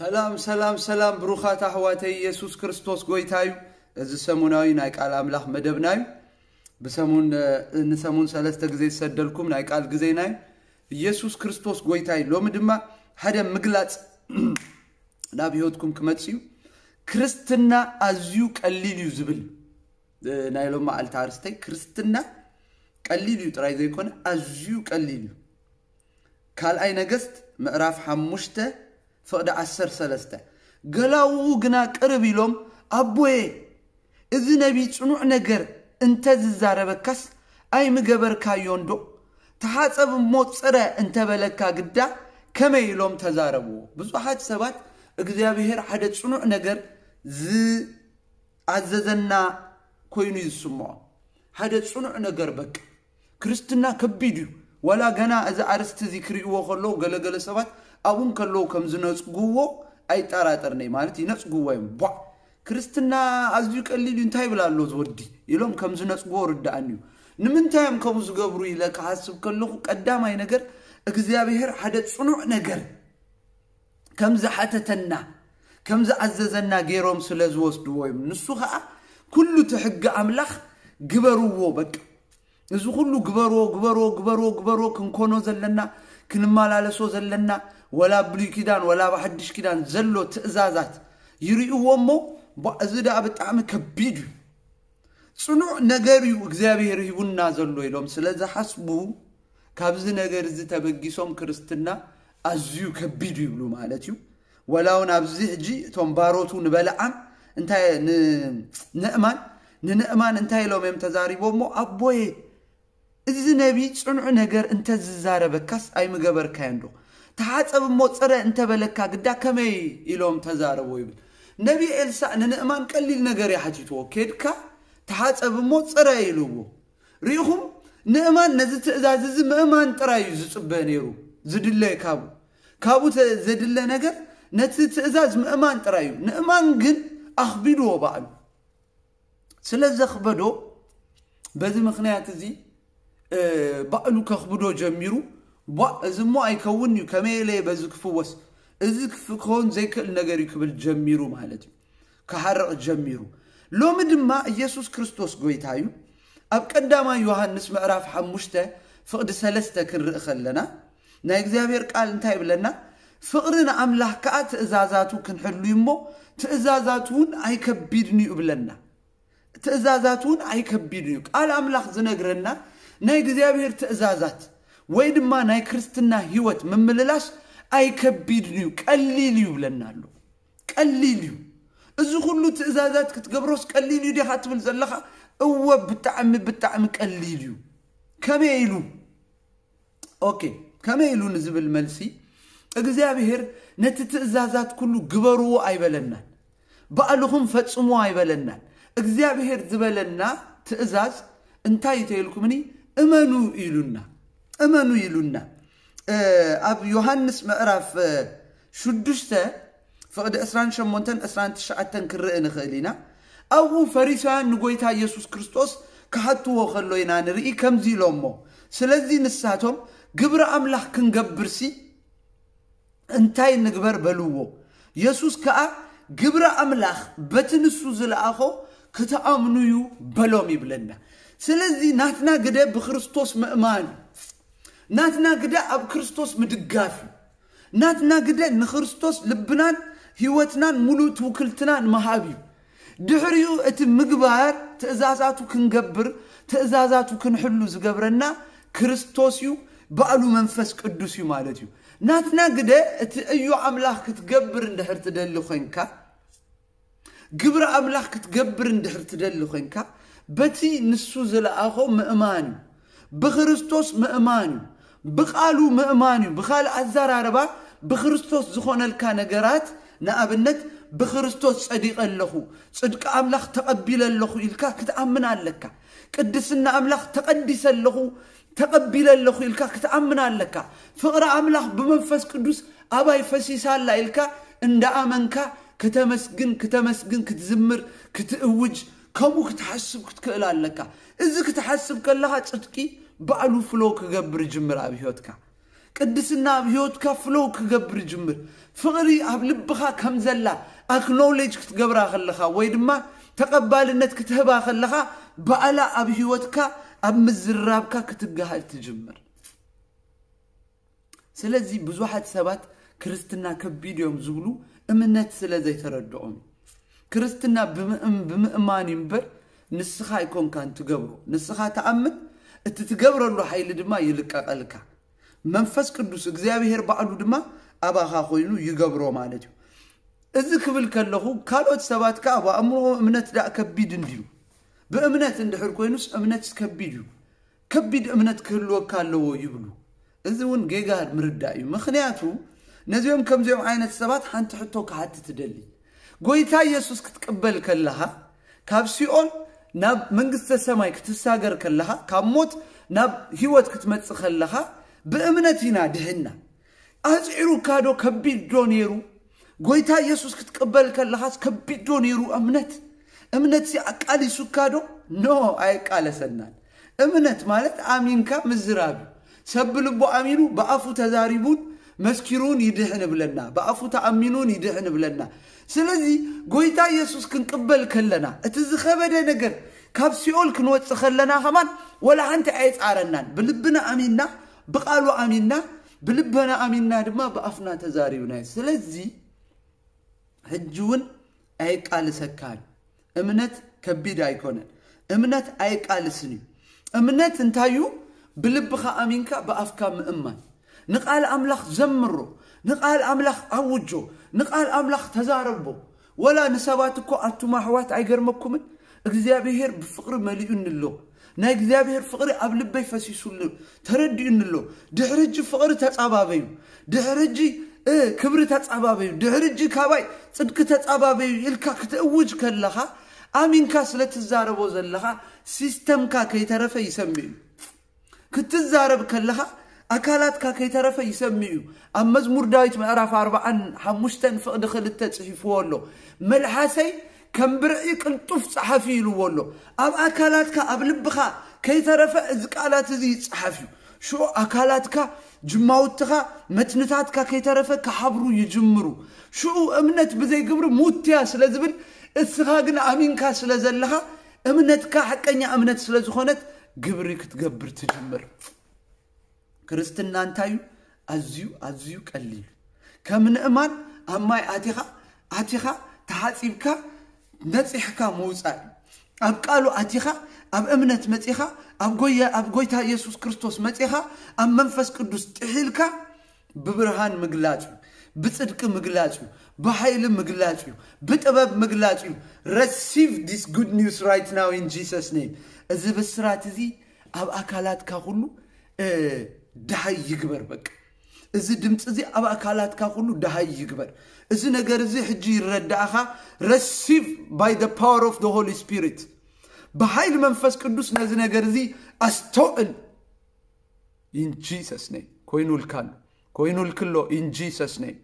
ሰላም ሰላም ሰላም፣ ብሩኻት ኣሕዋተይ፣ ኢየሱስ ክርስቶስ ጎይታ እዩ። እዚ ሰሙናዊ ናይ ቃል ኣምላኽ መደብና እዩ። ብሰሙን ንሰሙን ሰለስተ ግዜ ዝሰደልኩም ናይ ቃል ግዜና እዩ። ኢየሱስ ክርስቶስ ጎይታ እዩ። ሎሚ ድማ ሓደ ምግላጽ ናብ ህይወትኩም ክመጽእ እዩ። ክርስትና ኣዝዩ ቀሊል እዩ ዝብል ናይ ሎም መዓልቲ ኣርስተይ፣ ክርስትና ቀሊል እዩ ጥራይ ዘይኮነ ኣዝዩ ቀሊል እዩ። ካልኣይ ነገስት ምዕራፍ ሓሙሽተ ፍቕዲ ዓሰርተ ሰለስተ፣ ገላውኡ ግና ቅርብ ኢሎም፣ ኣቦየ፣ እዚ ነቢ ጽኑዕ ነገር እንተ ዝዛረበካስ ኣይምገበርካዮን ዶ? ተሓጸብ እሞ ጽረ እንተ በለካ ግዳ ከመይ ኢሎም ተዛረብዎ? ብዙሓት ሰባት እግዚኣብሔር ሓደ ጽኑዕ ነገር ዝኣዘዘና ኮይኑ እዩ ዝስምዖ። ሓደ ጽኑዕ ነገር በቃ። ክርስትና ከቢድ እዩ። ዋላ ገና እዚ ኣርስቲ እዚ ክርእይዎ ከለዉ ገለገለ ሰባት ኣብኡ ከለዉ ከም ዝነጽግዎ ኣይጠራጠርንይ ማለት ይነጽግዎ እዮም። ቧዕ፣ ክርስትና ኣዝዩ ቀሊል እዩ፣ እንታይ ይብል ኣሎ ዝወዲ ኢሎም ከም ዝነጽግዎ ርዳኣኒ እዩ። ንምንታይ እዮም ከምኡ ዝገብሩ ኢለ ክሓስብ ከለኹ ቀዳማይ ነገር እግዚኣብሔር ሓደ ጽኑዕ ነገር ከም ዝሓተተና ከም ዝኣዘዘና ገይሮም ስለ ዝወስድዎ እዮም። ንሱ ኸዓ ኩሉ እቲ ሕጊ ኣምላኽ ግበርዎ በቃ። እዚ ኩሉ ግበርዎ ግበርዎ ግበርዎ ግበርዎ ክንኮኖ ዘለና ክንመላለሶ ዘለና ወላ ብሉይ ኪዳን ወላ ብሓድሽ ኪዳን ዘሎ ትእዛዛት ይርእይዎ እሞ፣ ቧ፣ እዚ ደኣ ብጣዕሚ ከቢድ እዩ። ጽኑዕ ነገር እዩ እግዚኣብሔር ሂቡና ዘሎ ኢሎም ስለ ዝሓስቡ፣ ካብዚ ነገር እዚ ተበጊሶም ክርስትና ኣዝዩ ከቢድ እዩ ይብሉ ማለት እዩ። ወላ እውን ኣብዚ ሕጂ እቶም ባሮቱ ንበለዓም እንታይ ንእማን ንንእማን እንታይ ኢሎም እዮም ተዛሪቦሞ? ኣቦየ፣ እዚ ነቢ ጽኑዕ ነገር እንተ ዝዛረበካስ ኣይምገበርካዮን ዶ? ተሓጸብ እሞ ጽረ እንተ በለካ ግዳ ከመይ ኢሎም ተዛረቦ ይብል። ነቢ ኤልሳእ ንንእማን ቀሊል ነገር እዩ ሓቲትዎ። ኬድካ ተሓጸብ እሞ ጽረ ኢልዎ። ርኢኹም፣ ንእማን ነዚ ትእዛዝ እዚ ምእማን ጥራይ እዩ ዝጽበ ነይሩ፣ ዝድለ ካብኡ። ካብኡ ተ-፣ ዘድለ ነገር ነቲ ትእዛዝ ምእማን ጥራይ እዩ። ንእማን ግን ኣኽቢድዎ ባዕሉ። ስለ ዘኽበዶ፣ በዚ ምኽንያት እዚ፣ እ፣ ባዕሉ ከኽብዶ ጀሚሩ። ቧ፣ እዚ እሞ ኣይከውን እዩ፣ ከመይ ኢለ በዚ ክፍወስ? እዚ ክፍ-፣ ክኸውን ዘይክእል ነገር እዩ ክብል ጀሚሩ ማለት እዩ። ክሓርቕ ጀሚሩ። ሎሚ ድማ ኢየሱስ ክርስቶስ ጎይታ እዩ። ኣብ ቀዳማይ ዮሃንስ ምዕራፍ ሓሙሽተ ፍቕዲ ሰለስተ ክንርኢ ከለና፣ ናይ እግዚኣብሔር ቃል እንታይ ይብለና? ፍቕሪ ንኣምላኽ ከኣ ትእዛዛቱ ክንሕሉ እዩ እሞ፣ ትእዛዛቱ እውን ኣይከቢድን እዩ ይብለና። ትእዛዛት እውን ኣይከቢድን እዩ። ቃል ኣምላኽ ዝነግረና ናይ እግዚኣብሔር ትእዛዛት ወይ ድማ ናይ ክርስትና ህይወት ምምልላስ ኣይከቢድን እዩ፣ ቀሊል እዩ ይብለና ኣሎ። ቀሊል እዩ። እዚ ኩሉ ትእዛዛት ክትገብሮስ ቀሊል እዩ ዲኻ ትብል ዘለኻ? እወ፣ ብጣዕሚ፣ ብጣዕሚ ቀሊል እዩ። ከመይ ኢሉ? ኦኬ፣ ከመይ ኢሉ ንዝብል መልሲ፣ እግዚኣብሔር ነቲ ትእዛዛት ኩሉ ግበርዎ ኣይበለናን፣ ባዕልኹም ፈጽምዎ ኣይበለናን። እግዚኣብሔር ዝበለና ትእዛዝ እንታይ እዩ ተይልኩምኒ? እመኑ ኢሉና፣ እመኑ ኢሉና። እ፣ ኣብ ዮሃንስ ምዕራፍ፣ እ፣ ሽዱሽተ ፍቕዲ ዕስራን ሸሞንተን ዕስራን ትሽዓተን ክርኢ ንኽእል ኢና። ኣብኡ ፈሪሳውያን ንጎይታ ኢየሱስ ክርስቶስ ክሓትዎ ከሎ ኢና ንርኢ፣ ከምዚ ኢሎሞ፣ ስለዚ ንሳቶም፣ ግብሪ ኣምላኽ ክንገብርሲ እንታይ ንግበር በልዎ። የሱስ ከኣ፣ ግብሪ ኣምላኽ በቲ ንሱ ዝለኣኾ ክትኣምኑ እዩ በሎም ይብለና። ስለዚ ናትና ግደ ብክርስቶስ ምእማን እዩ። ናትና ግደ ኣብ ክርስቶስ ምድጋፍ እዩ። ናትና ግደ ንክርስቶስ ልብናን ህይወትናን ሙሉእ ትውክልትናን ምሃብ እዩ። ድሕሪኡ እቲ ምግባር ትእዛዛቱ ክንገብር፣ ትእዛዛቱ ክንሕሉ ዝገብረና ክርስቶስ እዩ፣ ባዕሉ መንፈስ ቅዱስ እዩ ማለት እዩ። ናትና ግደ እቲ እዩ ኣምላኽ ክትገብር እንድሕር ትደሊ ኮይንካ፣ ግብሪ ኣምላኽ ክትገብር እንድሕር ትደሊ ኮይንካ፣ በቲ ንሱ ዝለኣኾ ምእማን እዩ። ብክርስቶስ ምእማን እዩ። ብቃሉ ምእማን እዩ። ብኻልእ ኣዘራርባ፣ ብክርስቶስ ዝኾነልካ ነገራት፣ ንኣብነት፣ ብክርስቶስ ጸዲቐ ኣለኹ፣ ጽድቂ ኣምላኽ ተቐቢለ ኣለኹ ኢልካ ክትኣምን ኣለካ። ቅድስና ኣምላኽ ተቐዲሰ ኣለኹ፣ ተቐቢለ ኣለኹ ኢልካ ክትኣምን ኣለካ። ፍቕሪ ኣምላኽ ብመንፈስ ቅዱስ ኣባይ ፈሲሳ ኣላ ኢልካ እንዳኣመንካ ከተመስግን፣ ከተመስግን፣ ክትዝምር፣ ክትእውጅ፣ ከምኡ ክትሓስብ ክትክእል ኣለካ። እዚ ክትሓስብ ከለኻ ጽድቂ ባዕሉ ፍሎ ክገብር ይጅምር ኣብ ህይወትካ። ቅድስና ኣብ ህይወትካ ፍሎው ክገብር ይጅምር። ፍቕሪ ኣብ ልብኻ ከም ዘላ ኣክኖሌጅ ክትገብራ ከለኻ ወይ ድማ ተቐባልነት ክትህባ ከለኻ፣ ባዕላ ኣብ ህይወትካ ኣብ ምዝራብካ ክትገሃድ ትጅምር። ስለዚ ብዙሓት ሰባት ክርስትና ከቢድ እዮም ዝብሉ እምነት ስለ ዘይተረድኦም። ክርስትና ብምእም- ብምእማን እዩ እምበር፣ ንስኻ ኣይኮንካን ትገብሮ። ንስኻ ተኣምን፣ እቲ ትገብረሉ ሓይሊ ድማ ይልቀቐልካ። መንፈስ ቅዱስ እግዚኣብሔር ባዕሉ ድማ ኣባኻ ኮይኑ ይገብሮ ማለት እዩ። እዚ ክብል ከለኹ፣ ካልኦት ሰባት ከኣ ኣብ ኣእምሮ እምነት ደኣ ከቢድ እንድዩ። ብእምነት እንድሕር ኮይኑስ እምነትስ ከቢድ እዩ። ከቢድ እምነት ክህልወካ ኣለዎ ይብሉ። እዚ እውን ጌጋ ምርዳእ እዩ። ምኽንያቱ ነዚኦም ከምዚኦም ዓይነት ሰባት ሓንቲ ሕቶ ክሓትት እደሊ። ጎይታ ኢየሱስ ክትቅበል ከለኻ፣ ካብ ሲኦል ናብ መንግስተ ሰማይ ክትሳገር ከለኻ፣ ካብ ሞት ናብ ህይወት ክትመጽእ ከለኻ፣ ብእምነት ኢና ድሕና። ኣጽዒሩካ ዶ? ከቢድ ዶ ነይሩ? ጎይታ ኢየሱስ ክትቅበል ከለኻስ ከቢድ ዶ ነይሩ እምነት? እምነት ሲ ኣቃሊሱካ ዶ? ኖ፣ ኣይቃለሰናን። እምነት ማለት ኣሚንካ ምዝራብ እዩ። ሰብ ብልቡ ኣሚኑ ብኣፉ ተዛሪቡን መስኪሩን ይድሕን እብለና፣ ብኣፉ ተኣሚኑን ይድሕን እብለና። ስለዚ ጎይታ ኢየሱስ ክንቅበል ከለና፣ እቲ ዝኸበደ ነገር ካብ ሲኦል ክንወጽእ ከለና ከማን ወላ ሓንቲ ኣየጻረናን። ብልብና ኣሚንና፣ ብቃሉ ኣሚንና፣ ብልበና ኣሚንና ድማ ብኣፍና ተዛሪብናዮ። ስለዚ ሕጂ እውን ኣየቃልሰካን። እምነት ከቢድ ኣይኮነን። እምነት ኣየቃልስን እዩ። እምነት እንታይ እዩ? ብልብኻ ኣሚንካ ብኣፍካ ምእማን። ንቃል ኣምላኽ ዘምሮ፣ ንቃል ኣምላኽ ኣውጆ፣ ንቃል ኣምላኽ ተዛረቦ። ወላ ንሰባት እኮ ኣቱም ኣሕዋት ኣይገርመኩምን? እግዚኣብሔር ብፍቕሪ መሊኡኒ ኣሎ። ናይ እግዚኣብሔር ፍቕሪ ኣብ ልበይ ፈሲሱ ኣሎ፣ ተረዲኡኒ ኣሎ። ድሕሪ ሕጂ ፍቕሪ ተጻባበዩ፣ ድሕሪ ሕጂ እ፣ ክብሪ ተጻባበዩ፣ ድሕሪ ሕጂ ካባይ ጽድቂ ተጻባበዩ ኢልካ ክትእውጅ ከለኻ፣ ኣሚንካ ስለ ትዛረቦ ዘለኻ፣ ሲስተምካ ከይተረፈ ይሰምዕ እዩ። ክትዛረብ ከለኻ ኣካላትካ ከይተረፈ ይሰምዕ እዩ። ኣብ መዝሙር ዳዊት ምዕራፍ ኣርባዓን ሓሙሽተን ፍቕዲ ክልተ ጽሒፍዎ ኣሎ። መልሓሰይ ከም ብርዒ ቅልጡፍ ጸሓፊ ኢልዎ ኣሎ። ኣብ ኣካላትካ፣ ኣብ ልብኻ ከይተረፈ እዚ ቃላት እዚ ይጸሓፍ እዩ። ሽዑ ኣካላትካ፣ ጅማውትኻ፣ መትንታትካ ከይተረፈ ክሓብሩ ይጅምሩ። ሽዑ እምነት ብዘይ ግብሪ ሙት እያ ስለ ዝብል፣ እስኻ ግን ኣሚንካ ስለ ዘለኻ፣ እምነትካ ሓቀኛ እምነት ስለ ዝኾነት፣ ግብሪ ክትገብር ትጅምር። ክርስትና እንታይ እዩ? ኣዝዩ፣ ኣዝዩ ቀሊል። ከም ንእማን ኣብ ማይ ኣቲኻ፣ ኣቲኻ፣ ተሓጺብካ፣ ነጺሕካ ምውጻእ እዩ። ኣብ ቃሉ ኣቲኻ፣ ኣብ እምነት መጺኻ፣ ኣብ ጎየ-፣ ኣብ ጎይታ ኢየሱስ ክርስቶስ መጺኻ፣ ኣብ መንፈስ ቅዱስ ጥሒልካ፣ ብብርሃን ምግላጽ እዩ፣ ብጽድቂ ምግላጽ እዩ፣ ብሓይሊ ምግላጽ እዩ፣ ብጥበብ ምግላጽ እዩ። Receive this good news right now in Jesus' name። እዚ ብስራት እዚ ኣብ ኣካላትካ ኩሉ፣ እ፣ ደሃይ ይግበር። በቃ፣ እዚ ድምፂ እዚ ኣብ ኣካላትካ ኩሉ ደሃይ ይግበር። እዚ ነገር እዚ ሕጂ ይረዳእኻ። Receive by the power of the Holy Spirit። ብሓይሊ መንፈስ ቅዱስ ነዚ ነገር እዚ ኣስተውዕል። In Jesus' name። ኮይኑልካ ኣሎ። ኮይኑልክሎ። In Jesus' name።